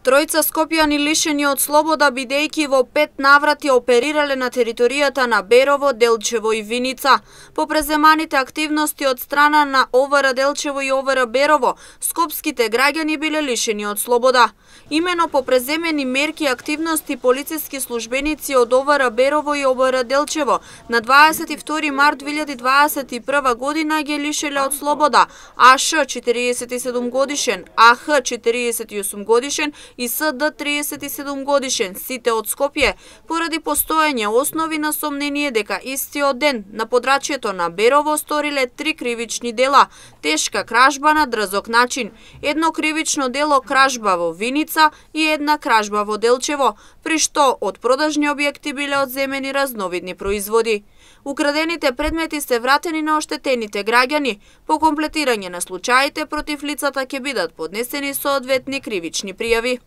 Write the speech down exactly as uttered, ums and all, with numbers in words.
Тројца скопјани лишени од слобода бидејќи во пет наврати оперирале на територијата на Берово, Делчево и Виница. По преземаните активности од страна на О В Р Делчево и О В Р Берово, скопските граѓани биле лишени од слобода. Имено по преземени мерки и активности полициски службеници од О В Р Берово и О В Р Делчево на дваесет и втори март две илјади дваесет и прва година ги лишеле од слобода А Ш четириесет и седум годишен, А Х четириесет и осум годишен и С Д триесет и седум годишен, сите од Скопје, поради постоење основи на сомнение дека истиот ден на подрачјето на Берово сториле три кривични дела: тешка кражба на дрзок начин, едно кривично дело кражба во Виница и една кражба во Делчево, при што од продажни објекти биле одземени разновидни производи. Украдените предмети се вратени на оштетените граѓани. По комплетирање на случаите против лицата ќе бидат поднесени соодветни кривични пријави.